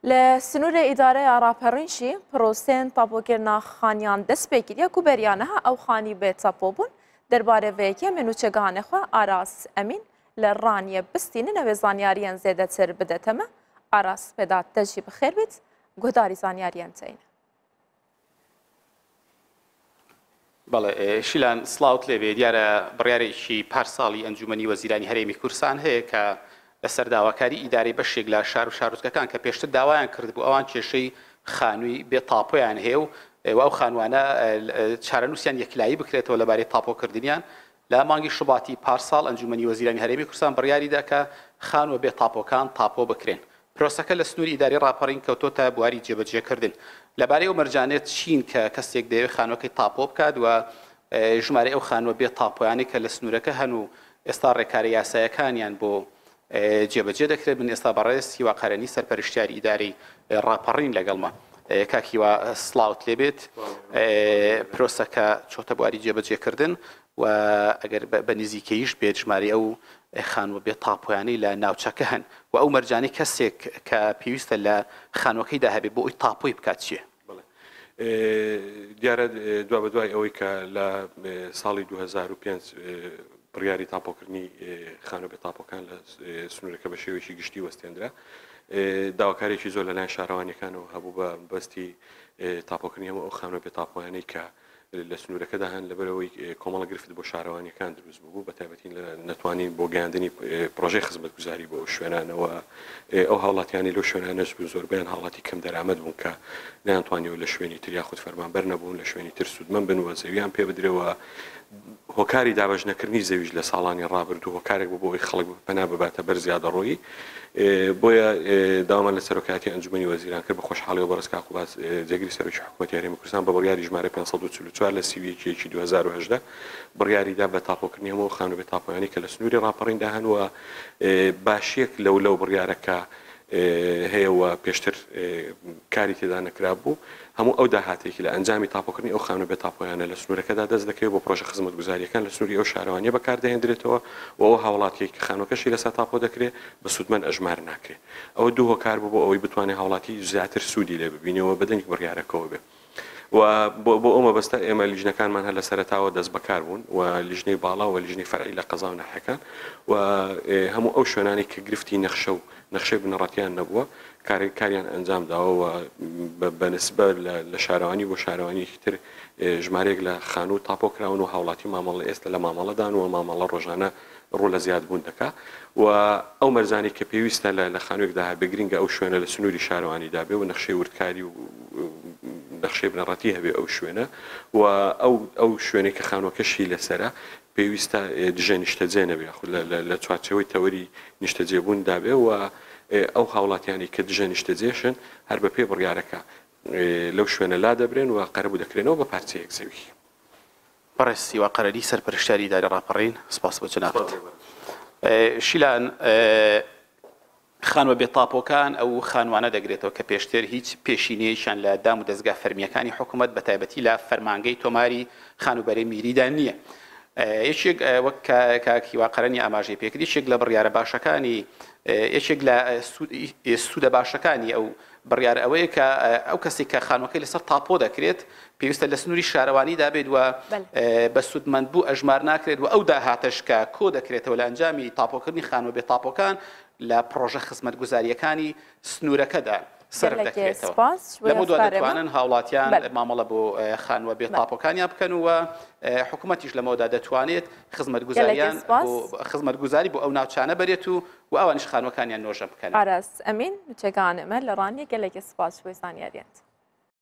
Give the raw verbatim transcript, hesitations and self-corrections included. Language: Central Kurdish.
لە سنوورە ئیدارەی ڕاپەڕینشی پرۆسێن تاپۆکردنا خانیان دەست پێکردیە کو بەریانەها ئەو خانی بێ تاپۆ بوون دەربارەی ڤێیەکێ من نوچەگانێ خۆ ئاراس ئەمین لە ڕانیە بستینن ئەوێ زانیاریان زێدەتر بدەتەمە. ئاراس پێدا تەژی بخێر بێت گۆداری زانیاریان تین. بەڵێ شیلان سڵاوت لێبێ. دیارە بڕیارێکی پار ساڵی ئەنجومەنی وەزیرانی هەرێمی کوردستان هەیە کە لەسەر داواکاری ئیدارەی بەشێک لە شار و شارۆچکەکان کە پێشتر داوایان کردبوو ئەوان کێشەی خانووی بێ تاپۆیان هەیە و ئەو خانوانە چارەنووسیان یەکلایی بکرێتەوە لەبارەی تاپۆکردنیان. لە مانگی شوباتی پارساڵ ئەنجومەنی وەزیرانی هەرێمی کوردستان بڕیاریدا کە خانووە بێ تاپۆکان تاپۆ بکرێن. پرۆسەکە لە سنووری ئیداری ڕاپەڕین کەوتۆتە بواری جێبەجێکردن. لەبارەی ئەو مەرجانێت چین کە کەسێک دەیەوێت خانووەکەی تاپۆ بکات و ژمارەی ئەو خانووە بێ تاپۆیانەی کە لە سنوورەکە هەن و ئێستا ڕێکارە یاسایەکانیان بۆ جێبەجێ دەکرێت. من ئێستا بەڕێز هیوا قەرەنی سەرپەرشتیاری ئیدارەی ڕاپەڕین لەگەڵمە. کاک هیوا سڵاوت لێبێت. پرۆسەکە چۆتە بواری جێبەجێکردن و ئەگەر بە نزیکەیش بێت ژمارەی ئەو خانووە بێ تاپۆیانەی لە ناوچەکە هەن و ئەو مەرجانەی کەسێک کە پێویستە لە خانووەکەیدا هەبێت بۆ ئەوی تاپۆی بکات چییە؟ دیارە دوا بە دوای ئەوەی کە لە ساڵی دوو هەزار و پێنج بڕیاری تاپۆکردنی خانووە بێ تاپۆکان لە سنوورەکە بە شێوەیەکی گشتی وەستێنرا، داواکارێکی زۆر لەلایەن شارەوانیەکانەوە هەبوو بە بەستی تاپۆکردنی هەموو ئەو خانووە بێ تاپۆیانەی کە لە سنوورەکەدا هەن، لەبەرەوەی کۆمەڵە گرفت بۆ شارەوانیەکان دروست بوو، بە تایبەتی لە نەتوانین بۆ گەیاندنی پرۆژەی خزمەتگوزاری بۆ ئەو شوێنانەوە. ئەو هاوڵاتیانی لەو شوێنانەش بوون زۆربەیان هاوڵاتی کەم دەرامەت بوون کە نەیانتوانیەوە لە شوێنی تر یاخود فەرمانبەر نەبوون لە شوێنی تر سوودمەند بن و زەویان پێ بدرێەوە. هۆکاری دابەش نەکردنی زەویش لە ساڵانی ڕابردوو هۆکارێک بوو بۆ ئەوەی خەڵک پەنا بباتە بەر زیادەڕۆیی. بۆیە داوامان لە سەرۆکایەتی ئەنجومەنی وەزیران کرد بە خۆشحاڵیەوە بەڕێز کاک قوباد جێگری سەرۆکی حکوومەتی هەرێمی کوردستان بە بڕیاری ژمارە پێنج سەد و چل و چوار لە سی و یەک یەکی دوو هەزار و هەژدە بڕیاریدا بە تاپۆکردنی هەموو خانوو بێ تاپۆیانی کە لە سنووری ڕاپەڕیندا هەن و باشیەک لەو لەو بڕیارەکە هەیە و پێشتر کاری تێدا نەکرابوو. هەموو ئەو داهاتێکی لە ئەنجامی تاپۆکردنی ئەو خانوو بێ تاپۆیانە لە سنوورەکەدا دەست دەکەوێت بۆ پرۆژە خزمەتگوزاریەکان لە سنووری ئەو شارەوانیە بەکاردەهێندرێتەوە و ئەو هاوڵاتیەک کە خانووەکەشی لەسەر تاپۆ دەکرێت بە سوودمەند ئەژمار ناکرێت. ئەوە دوو هۆکار بوو بۆ ئەوەی بتوانێت هاوڵاتی زیاتر سوودی لێ ببینەوە بەدەنگ بڕیارەکەەوە بێ. و بۆ ئەو مەبەستە ئێمە لیژنەکانمان هەر لە سەرەتاوە دەست بەکار بوون و لیژنەی باڵا و لیژنەی فەرعی لە قەزا و ناحیەکان و هەموو ئەو شوێنانەی کە گرفتی نەخشە و نەخشەی بنەڕەتیان نەبووە کاریان ئەنجام داوە و بە نسبە لە شارەوانی بۆ شارەوانیەکی تر ژمارەیەک لە خانوو تاپۆ کراون و هاوڵاتی مامەڵە ئێستا لە مامەڵەدان و مامەڵە ڕۆژانە ڕوو لە زیادبوون دەکا و ئەو مەرجانەی کە پێویستە لە خانوویەکدا هەبێ گرنگە ئەو شوێنە لە سنووری شارەوانیدا بێ و نەخشەی وردکاری و نەخشەی بنەڕەتی هەبێ ئەو شوێنە و ئەو ئەو شوێنێک کە خانووەکەشی لەسەرە پێویستە دژە نیشتەجێ نەبێ یاخود لە چوارچێوەی تەوەری نیشتەجێبووندا بێ و ئەو هاوڵاتیانی کە دژە نیشتەجێشن هەر بە پێ بڕیارەکە لەو شوێنە لا دەبرێن و قەرەبوو دەکرێنەوە بە پارچەیەک زەوی. بەڕێز هیوا قەرەنی سەرپەرشتیاری ئیدارەی ڕاپەڕین، سپاس بۆ جەنابت. شیلان، خانووە بێتاپۆکان ئەو خانوانە دەگرێتەوە کە پێشتر هیچ پێشینەیەکیان لە دام و دەستگا فەرمیەکانی حکوومەت بە تایبەتی لە فەرمانگەی تۆماری خانووبەرەی میریدا نییە. یەکێک وەک کاک هیوا قەرەنی ئاماژەی پێکرد، یەکێک لە بڕیارە باشەکانی یەکێک لە سوودە باشەکانی ئەو بڕیار ئەوەیە کە ئەو کەسێک کە خانووەکەی لەسەر تاپۆ دەکرێت پێویستە لە سنووری شارەوانیدا بێت و بە سوودمەند بوو ئەژمار ناکرێت و ئەو داهاتەش کە کۆ دەکرێتەوە لە ئەنجامی تاپۆکردنی خانووە بێ تاپۆکان لە پرۆژە خزمەتگوزاریەکانی سنوورەکەدا سەرف دەکرێتەوە. لەمە دوا دەتوانن هاوڵاتیان مامەڵە بۆ خانووە بێ تاپۆکانیان بکەن و حکوومەتیش لەمەوەدا دەتوانێت خزمەتگوزاریان خزمەتگوزاری بۆ ئەو ناوچانە بەرێت و و ئەوانیش خانووەکانیان نۆژە بکەن. ئاراس ئەمین، نوچەگانمە لە ڕانیە، گەلێکی سپاس بۆ زانیاریان.